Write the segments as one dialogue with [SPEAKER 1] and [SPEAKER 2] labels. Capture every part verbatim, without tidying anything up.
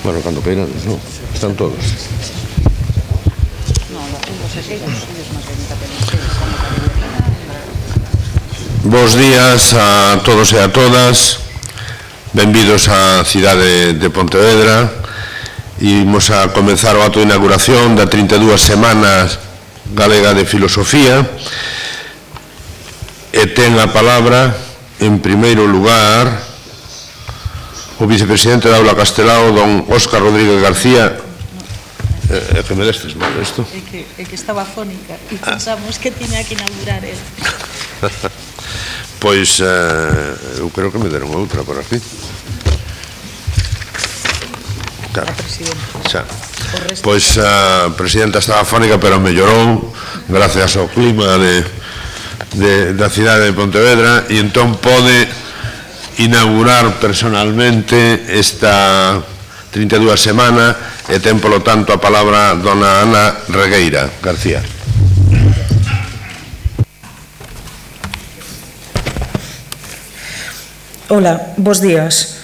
[SPEAKER 1] Bueno, cando queirades, non? Están todos. Bos días a todos e a todas. Benvidos á cidade de Pontevedra. Imos a comenzar o acto de inauguración da trinta e dúas Semanas Galega de Filosofía. E ten a palabra, en primeiro lugar, o vicepresidente da Aula Castelao, don Óscar Rodríguez García. É que me destes mal isto?
[SPEAKER 2] É que estaba fónica e pensamos que tiña que inaugurar el.
[SPEAKER 1] Pois, eu creo que me deron outra por aquí.
[SPEAKER 2] A presidenta.
[SPEAKER 1] Pois a presidenta estaba fónica, pero mellorou gracias ao clima da cidade de Pontevedra, e entón pode inaugurar personalmente esta trinta e dúas Semana e ten, polo tanto, a palabra dona Ana Regueira García.
[SPEAKER 3] Ola, bos días.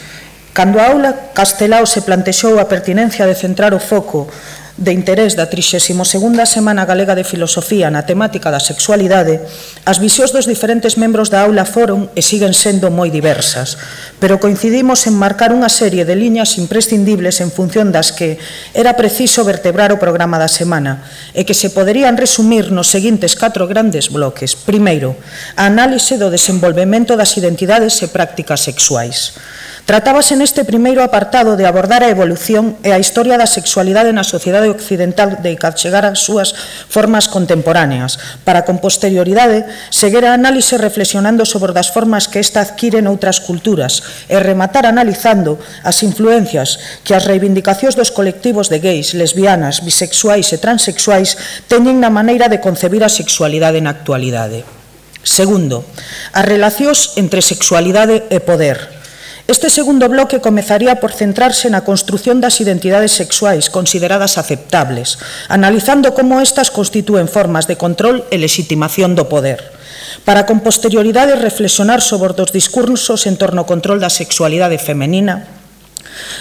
[SPEAKER 3] Cando a Aula Castelao se plantexou a pertinencia de centrar o foco de interés da trixésima segunda Semana Galega de Filosofía na temática da sexualidade, as visións dos diferentes membros da aula foron e siguen sendo moi diversas, pero coincidimos en marcar unha serie de liñas imprescindibles en función das que era preciso vertebrar o programa da semana e que se poderían resumir nos seguintes catro grandes bloques. Primeiro, a análise do desenvolvemento das identidades e prácticas sexuais. Tratábase neste primeiro apartado de abordar a evolución e a historia da sexualidade na sociedade occidental de chegar ás súas formas contemporáneas, para con posterioridade seguir a análise reflexionando sobre as formas que esta adquire noutras culturas e rematar analizando as influencias que as reivindicacións dos colectivos de gays, lesbianas, bisexuais e transexuais teñen na maneira de concebir a sexualidade na actualidade. Segundo, as relacións entre sexualidade e poder. Este segundo bloque comezaría por centrarse na construción das identidades sexuais consideradas aceptables, analizando como estas constitúen formas de control e lexitimación do poder, para con posterioridade reflexionar sobre os discursos en torno ao control da sexualidade femenina,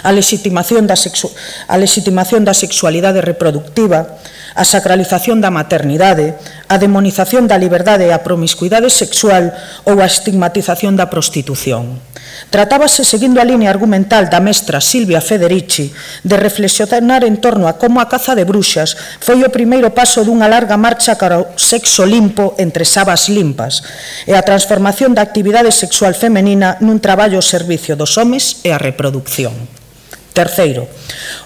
[SPEAKER 3] a lexitimación da, sexu a lexitimación da sexualidade reproductiva, a sacralización da maternidade, a demonización da liberdade e a promiscuidade sexual ou a estigmatización da prostitución. Tratábase, seguindo a línea argumental da mestra Silvia Federici, de reflexionar en torno a como a caza de bruxas foi o primeiro paso dunha larga marcha cara ao sexo limpo entre sabas limpas e a transformación da actividade sexual femenina nun traballo ao servicio dos homes e a reproducción. Terceiro,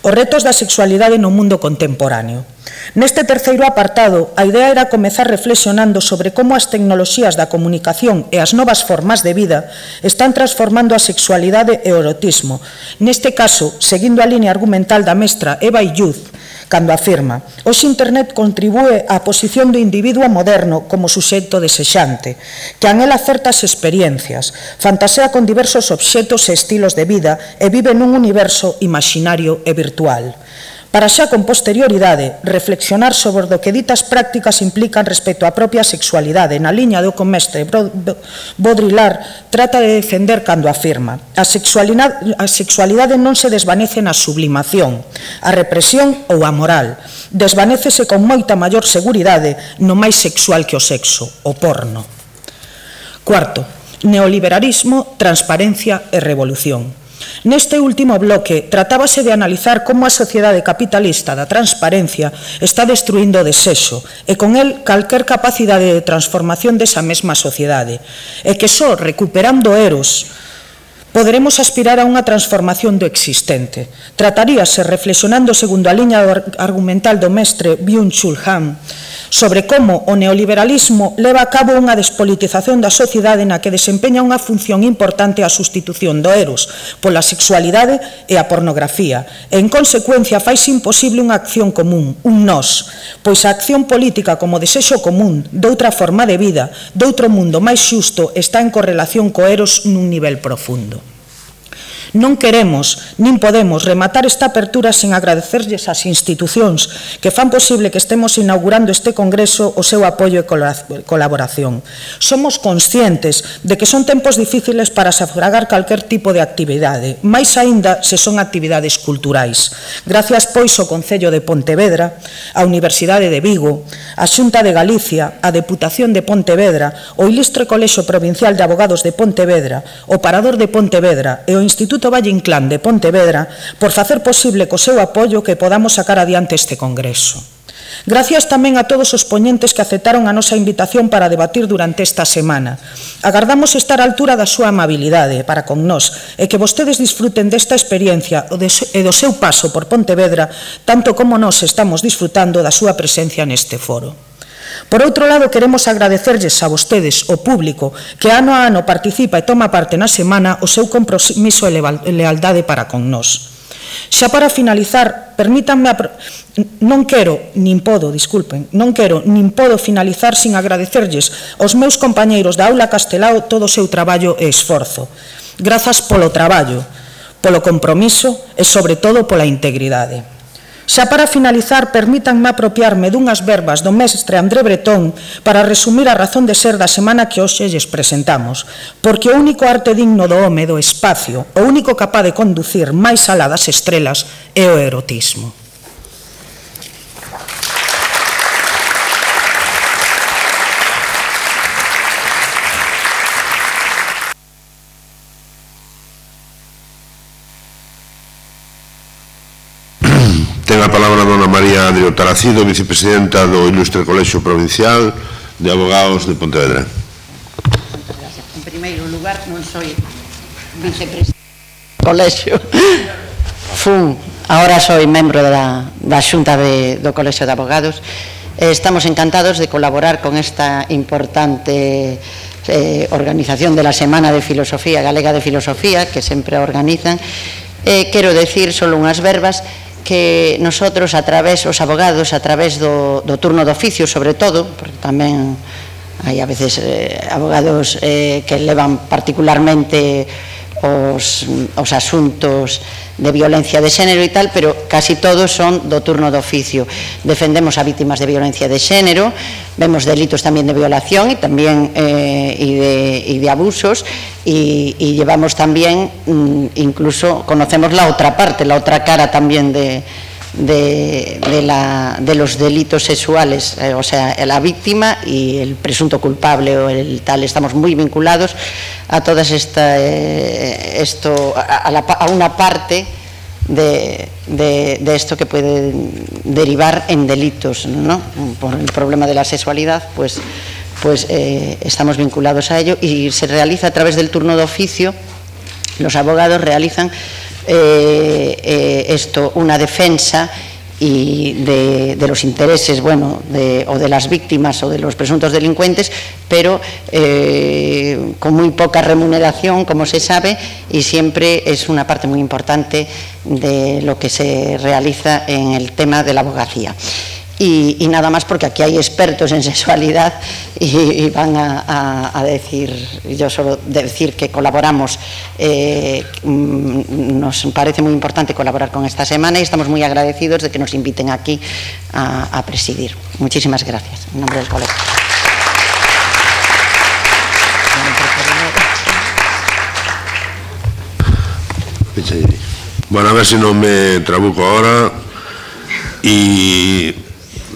[SPEAKER 3] os retos da sexualidade no mundo contemporáneo. Neste terceiro apartado, a idea era comezar reflexionando sobre como as tecnoloxías da comunicación e as novas formas de vida están transformando a sexualidade e o erotismo. Neste caso, seguindo a línea argumental da mestra Eva Illuz, cando afirma: hoxe Internet contribúe á posición do individuo moderno como suxeito desexante, que anhela certas experiencias, fantasea con diversos obxetos e estilos de vida e vive nun universo imaginario e virtual. Para xa con posterioridade reflexionar sobre o que ditas prácticas implican respecto á propia sexualidade, na liña do que o mestre Baudrillard trata de defender cando afirma: a sexualidade, a sexualidade non se desvanece na sublimación, a represión ou a moral, desvanécese con moita maior seguridade no máis sexual que o sexo, o porno. Cuarto, neoliberalismo, transparencia e revolución. Neste último bloque tratábase de analizar como a sociedade capitalista da transparencia está destruindo o desexo e con el calquer capacidade de transformación desa mesma sociedade, e que só recuperando eros poderemos aspirar a unha transformación do existente. Trataríase, reflexionando segundo a liña argumental do mestre Byung-Chul Han, sobre como o neoliberalismo leva a cabo unha despolitización da sociedade na que desempeña unha función importante a sustitución do eros pola sexualidade e a pornografía, e en consecuencia faise imposible unha acción común, un nós, pois a acción política como desexo común doutra forma de vida, doutro mundo máis xusto, está en correlación co eros nun nivel profundo. Non queremos, nin podemos, rematar esta apertura sen agradecerlles ás institucións que fan posible que estemos inaugurando este congreso o seu apoio e colaboración. Somos conscientes de que son tempos difíciles para sufragar calquer tipo de actividade, máis aínda se son actividades culturais. Gracias, pois, ao Concello de Pontevedra, a Universidade de Vigo, a Xunta de Galicia, a Deputación de Pontevedra, o Ilustre Colexio Provincial de Abogados de Pontevedra, o Parador de Pontevedra e o Instituto Valle Inclán de Pontevedra por facer posible co seu apoio que podamos sacar adiante este congreso. Gracias tamén a todos os poñentes que aceptaron a nosa invitación para debatir durante esta semana. Agardamos estar á altura da súa amabilidade para con nós e que vostedes disfruten desta experiencia e do seu paso por Pontevedra tanto como nós estamos disfrutando da súa presencia neste foro. Por outro lado, queremos agradecerlles a vostedes, o público, que ano a ano participa e toma parte na semana o seu compromiso e lealdade para con nós. Xa para finalizar, permítanme, non quero, nin podo, disculpen, non quero, nin podo finalizar sin agradecerlles aos meus compañeiros da Aula Castelao todo o seu traballo e esforzo. Grazas polo traballo, polo compromiso e, sobre todo, pola integridade. Xa para finalizar, permítanme apropiarme dunhas verbas do mestre André Bretón para resumir a razón de ser da semana que hoxe lles presentamos, porque o único arte digno do home do espacio, o único capaz de conducir máis alá das estrelas é o erotismo.
[SPEAKER 1] Ten a palabra dona María Adrio Taracido, vicepresidenta do Ilustre Colexio Provincial de Abogados de Pontevedra.
[SPEAKER 4] En primeiro lugar, non soy vicepresidenta do Colexio, fun, agora soy membro da, da Xunta de, do Colexio de Abogados. Estamos encantados de colaborar con esta importante eh, organización de la Semana de Filosofía, Galega de Filosofía, que sempre organizan. Eh, quero decir solo unhas verbas que nosotros, a través, os abogados, a través do, do turno de oficio, sobre todo, porque tamén hai a veces eh, abogados eh, que levan particularmente os, os asuntos de violencia de xénero e tal, pero casi todos son do turno de oficio. Defendemos a vítimas de violencia de xénero, vemos delitos tamén de violación e tamén eh, y de, y de abusos, y, y llevamos también, incluso conocemos la otra parte, la otra cara también de, de, de, la, de los delitos sexuales, eh, o sea, la víctima y el presunto culpable o el tal. Estamos muy vinculados a todas esta, eh, esto, a, a, la, a una parte de, de, de esto que puede derivar en delitos, ¿no? Por el problema de la sexualidad, pues, pues eh, estamos vinculados a ello y se realiza a través del turno de oficio. Los abogados realizan Eh, eh, esto, una defensa y de, de los intereses, bueno, de, o de las víctimas o de los presuntos delincuentes, pero eh, con muy poca remuneración, como se sabe, y siempre es una parte muy importante de lo que se realiza en el tema de la abogacía. Y, y nada más, porque aquí hay expertos en sexualidad y, y van a, a, a decir, yo solo decir que colaboramos, eh, nos parece muy importante colaborar con esta semana y estamos muy agradecidos de que nos inviten aquí a, a presidir. Muchísimas gracias, en nombre del colegio.
[SPEAKER 1] Bueno, a ver si no me trabuco ahora. Y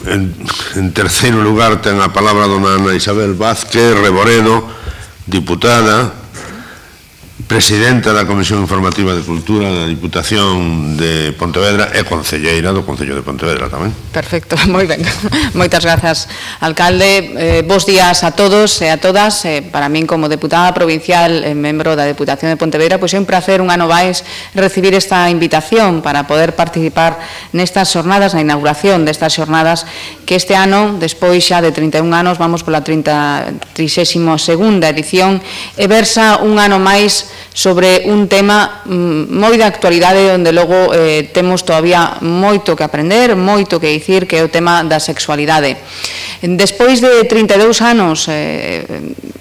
[SPEAKER 1] En, en terceiro lugar ten a palabra dona Ana Isabel Vázquez Reboredo, diputada, presidenta da Comisión Informativa de Cultura da Diputación de Pontevedra e concelleira do Concello de Pontevedra tamén.
[SPEAKER 5] Perfecto, moi ben. Moitas grazas, alcalde. Eh, bos días a todos e a todas. Eh, para min, como deputada provincial e membro da Deputación de Pontevedra, pois é un placer un ano máis recibir esta invitación para poder participar nestas xornadas, na inauguración destas xornadas que este ano, despois xa de trinta e un anos, vamos pola trixésima segunda edición e versa un ano máis sobre un tema moi de actualidade onde logo eh, temos todavía moito que aprender, moito que dicir, que é o tema da sexualidade. Despois de trinta e dous anos eh,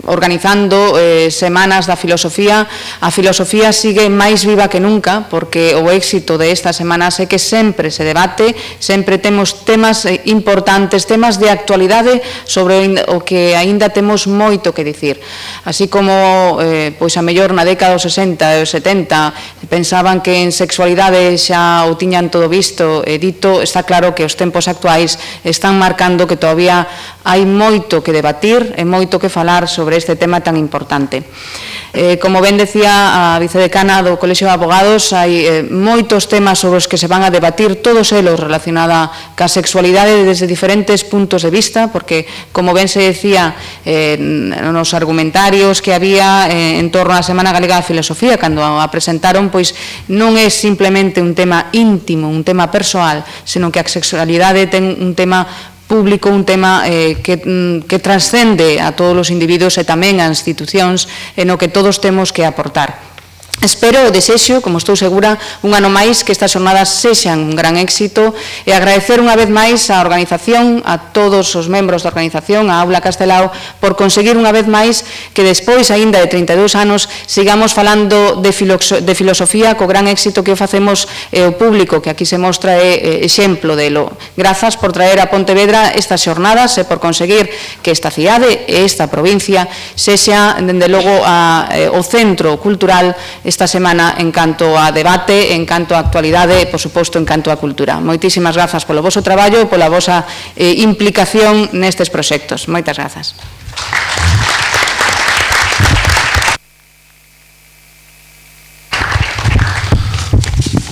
[SPEAKER 5] organizando eh, semanas da filosofía, a filosofía sigue máis viva que nunca, porque o éxito de estas semanas é que sempre se debate, sempre temos temas importantes, temas de actualidade sobre o que aínda temos moito que dicir. Así como, eh, pois a mellor na década dos sesenta e dos setenta pensaban que en sexualidade xa o tiñan todo visto e dito, está claro que os tempos actuais están marcando que todavía hai moito que debatir e moito que falar sobre este tema tan importante. Eh, como ben decía a vicedecana do Colexio de Abogados, hai eh, moitos temas sobre os que se van a debatir, todos eles relacionados ca sexualidade desde diferentes puntos de vista, porque, como ben se decía eh, nos argumentarios que había eh, en torno á Semana Galega da Filosofía, cando a presentaron, pois non é simplemente un tema íntimo, un tema persoal, senón que a sexualidade ten un tema público, un tema eh, que, que transcende a todos os individuos e tamén a institucións e no que todos temos que aportar. Espero o desexo, como estou segura, un ano máis que estas jornadas sexan un gran éxito e agradecer unha vez máis á organización, a todos os membros da organización, a Aula Castelao, por conseguir unha vez máis que despois, aínda de trinta e dous anos, sigamos falando de, de filosofía co gran éxito que o facemos e o público que aquí se mostra é exemplo delo. Grazas por traer a Pontevedra estas jornadas e por conseguir que esta cidade e esta provincia sexa, dende logo, a, o centro cultural esta semana en canto a debate, en canto a actualidade e, por suposto, en canto a cultura. Moitísimas grazas polo voso traballo e pola vosa eh, implicación nestes proxectos. Moitas grazas.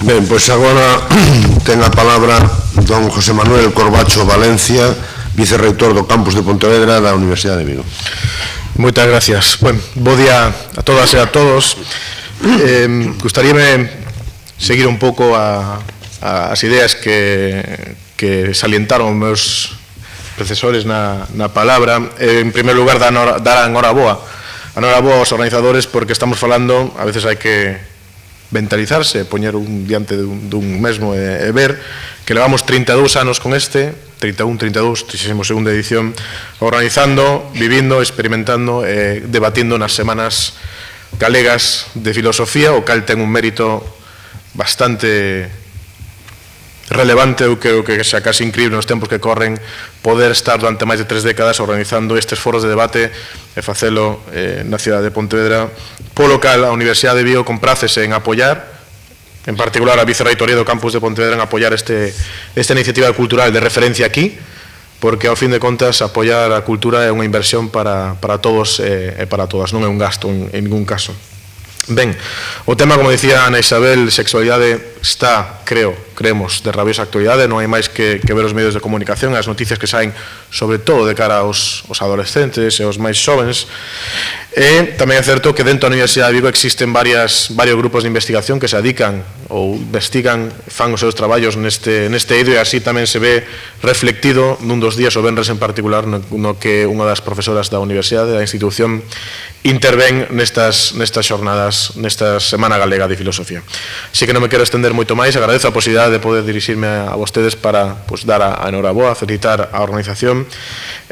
[SPEAKER 1] Ben, pois agora ten a palabra don José Manuel Corbacho Valencia, vicerreitor do campus de Pontevedra da Universidade de Vigo.
[SPEAKER 6] Moitas gracias. Bueno, bo día a todas e a todos. Eh, gustaríame seguir un pouco a, a, as ideas que, que salientaron os meus predecesores na, na palabra. Eh, en primer lugar, dar a enhoraboa a enhoraboa aos organizadores, porque estamos falando, a veces hai que mentalizarse, poñer un diante dun, dun mesmo e, e ver que levamos trinta e dous anos con este, trinta e un, trinta e dous, trigésima segunda edición, organizando, vivindo, experimentando e debatindo nas semanas galegas de filosofía, o cal ten un mérito bastante relevante. Eu creo que xa casi increíble nos tempos que corren poder estar durante máis de tres décadas organizando estes foros de debate e facelo eh, na cidade de Pontevedra. Polo cal a Universidade de Vigo comprácese en apoiar, en particular a Vicerreitoría do Campus de Pontevedra, en apoiar este, esta iniciativa cultural de referencia aquí, porque ao fin de contas apoiar a cultura é unha inversión para, para todos e, e para todas, non é un gasto en, en ningún caso. Ben, o tema, como dicía Ana Isabel, sexualidade está, creo, creemos, de rabiosa actualidade, non hai máis que, que ver os medios de comunicación, as noticias que saen, sobre todo de cara aos, aos adolescentes e aos máis xovens. E tamén é certo que dentro da Universidade de Vigo existen varias, varios grupos de investigación que se dedican ou investigan, fan os seus traballos neste, neste eido, e así tamén se ve reflectido nun dos días, o venres en particular, no, no que unha das profesoras da Universidade, da institución, intervén nestas, nestas xornadas, nesta Semana Galega de Filosofía. Así que non me quero estender moito máis, agradezo a posibilidade de poder dirixirme a vostedes para pues, dar a, a enhoraboa, felicitar a organización,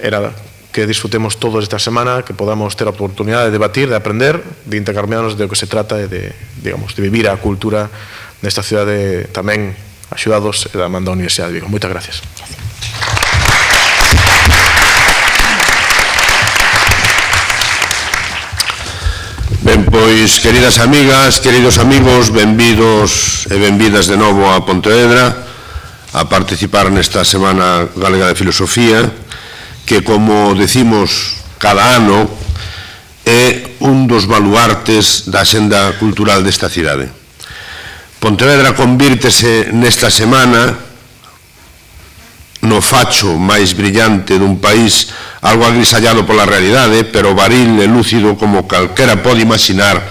[SPEAKER 6] era que disfrutemos todos esta semana, que podamos ter a oportunidade de debatir, de aprender, de intercambiarnos de o que se trata e de, digamos, de vivir a cultura nesta cidade tamén axudados da man da Universidade de Vigo. Moitas gracias.
[SPEAKER 1] Ben, pois, queridas amigas, queridos amigos, benvidos e benvidas de novo a Pontevedra a participar nesta Semana Galega de Filosofía, que, como decimos cada ano, é un dos baluartes da xenda cultural desta cidade. Pontevedra convírtese nesta semana no facho máis brillante dun país algo agrisallado pola realidade, pero varil e lúcido como calquera pode imaginar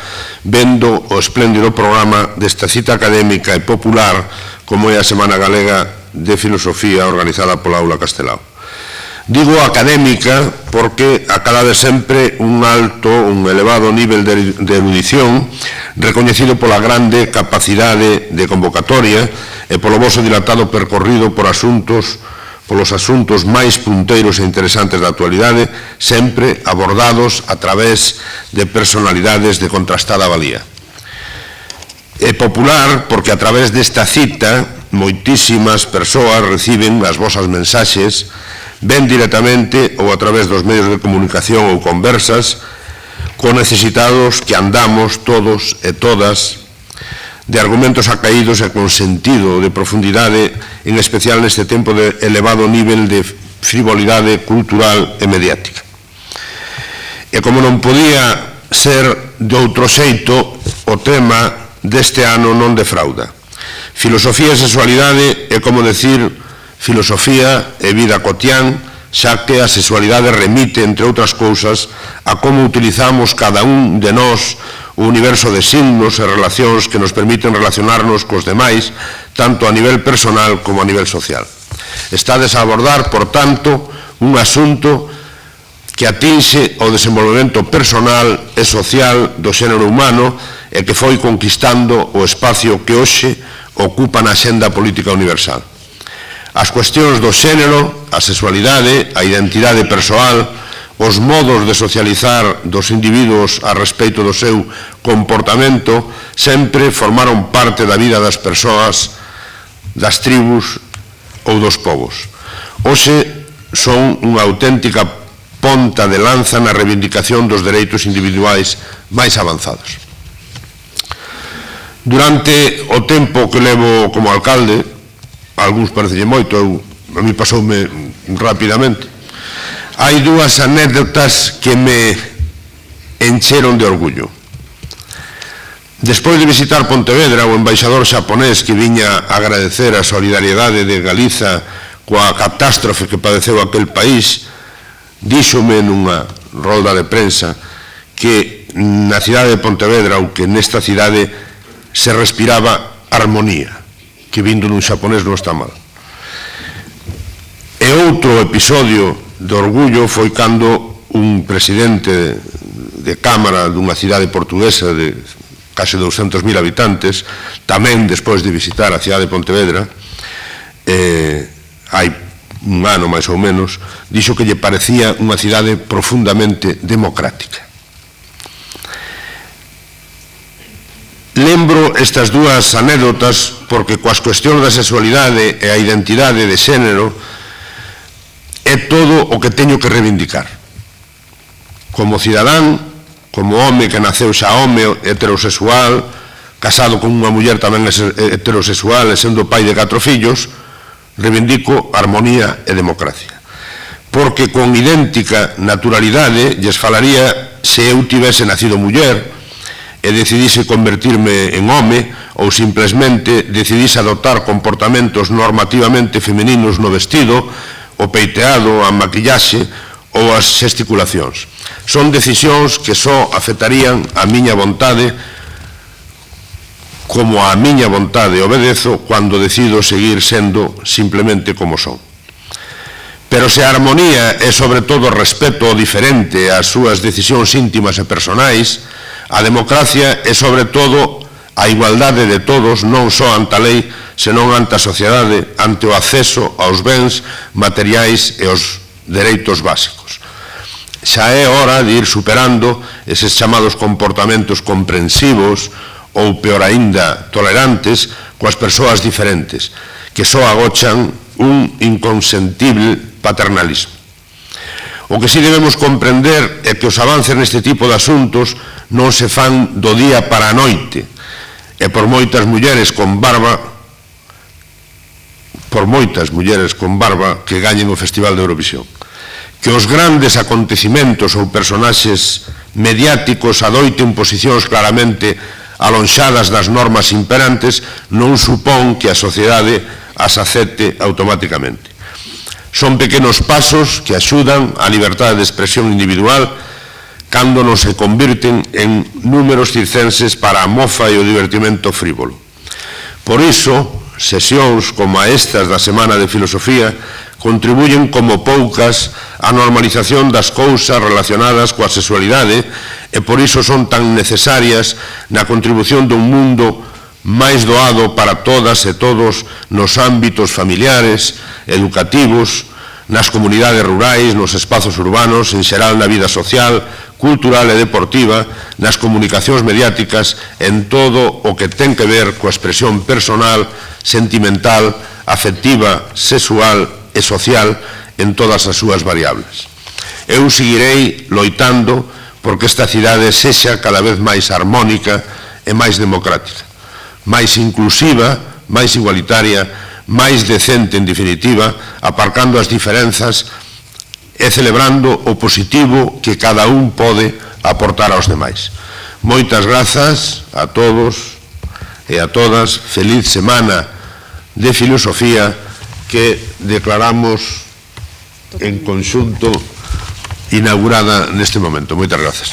[SPEAKER 1] vendo o espléndido programa desta cita académica e popular como é a Semana Galega de Filosofía organizada pola Aula Castelao. Digo académica porque acadade sempre un alto, un elevado nivel de erudición recoñecido pola grande capacidade de convocatoria e polo voso dilatado percorrido por asuntos polos asuntos máis punteiros e interesantes da actualidade, sempre abordados a través de personalidades de contrastada valía. É popular porque a través desta cita moitísimas persoas reciben as vosas mensaxes, ben directamente ou a través dos medios de comunicación ou conversas, con necesitados que andamos todos e todas de argumentos acaídos e con sentido de profundidade, en especial neste tempo de elevado nivel de frivolidade cultural e mediática. E como non podía ser de outro xeito, o tema deste ano non defrauda. Filosofía e sexualidade é como decir filosofía e vida cotián, xa que a sexualidade remite, entre outras cousas, a como utilizamos cada un de nós o universo de signos e relacións que nos permiten relacionarnos cos demais, tanto a nivel personal como a nivel social. Estades a abordar, por tanto, un asunto que atinxe o desenvolvemento personal e social do xénero humano e que foi conquistando o espacio que hoxe ocupa na xenda política universal. As cuestións do xénero, a sexualidade, a identidade persoal, os modos de socializar dos individuos a respeito do seu comportamento sempre formaron parte da vida das persoas, das tribus ou dos povos. Hoxe son unha auténtica ponta de lanza na reivindicación dos dereitos individuais máis avanzados. Durante o tempo que levo como alcalde, algúns parecelle moito, eu, a mí pasoume rapidamente, hai dúas anécdotas que me encheron de orgullo. Despois de visitar Pontevedra, o embaixador xaponés que viña a agradecer a solidariedade de Galiza coa catástrofe que padeceu aquel país, díxome nunha rolda de prensa que na cidade de Pontevedra, ou que nesta cidade se respiraba armonía, que vindo dun xaponés non está mal. E outro episodio de orgullo foi cando un presidente de Cámara dunha cidade portuguesa de case douscentos mil habitantes, tamén despois de visitar a cidade de Pontevedra, eh, hai un ano máis ou menos, dixo que lle parecía unha cidade profundamente democrática. Lembro estas dúas anécdotas porque coas cuestións da sexualidade e a identidade de xénero é todo o que teño que reivindicar. Como cidadán, como home que naceu xa home heterosexual, casado con unha muller tamén heterosexual e sendo pai de catro fillos, reivindico armonía e democracia. Porque con idéntica naturalidade lles falaría se eu tivese nacido muller e decidise convertirme en home ou simplesmente decidise adoptar comportamentos normativamente femininos no vestido, o peiteado, a maquillaxe ou as xesticulacións. Son decisións que só afectarían a miña vontade, como a miña vontade obedezo cando decido seguir sendo simplemente como son. Pero se a armonía é sobre todo respeto ao diferente ás súas decisións íntimas e personais, a democracia é sobre todo a igualdade de todos, non só ante a lei, senón ante a sociedade, ante o acceso aos bens materiais e aos dereitos básicos. Xa é hora de ir superando eses chamados comportamentos comprensivos ou, peor aínda, tolerantes coas persoas diferentes, que só agochan un inconsentible paternalismo. O que si debemos comprender é que os avances neste tipo de asuntos non se fan do día para a noite, e por moitas mulleres con barba por moitas mulleres con barba que gañen o Festival de Eurovisión. Que os grandes acontecimentos ou personaxes mediáticos adoiten posicións claramente alonxadas das normas imperantes non supón que a sociedade as acepte automáticamente. Son pequenos pasos que axudan á liberdade de expresión individual cando non se convirten en números circenses para a mofa e o divertimento frívolo. Por iso, sesións como a estas da Semana de Filosofía contribuyen como poucas á normalización das cousas relacionadas coa sexualidade e por iso son tan necesarias na contribución dun mundo máis doado para todas e todos nos ámbitos familiares, educativos, nas comunidades rurais, nos espazos urbanos, en xeral na vida social, cultural e deportiva, nas comunicacións mediáticas, en todo o que ten que ver coa expresión personal, sentimental, afectiva, sexual e social en todas as súas variables. Eu seguirei loitando porque esta cidade sexa cada vez máis armónica e máis democrática, máis inclusiva, máis igualitaria, máis decente en definitiva, aparcando as diferenzas e celebrando o positivo que cada un pode aportar aos demais. Moitas grazas a todos e a todas. Feliz semana de filosofía que declaramos en conxunto inaugurada neste momento. Moitas grazas.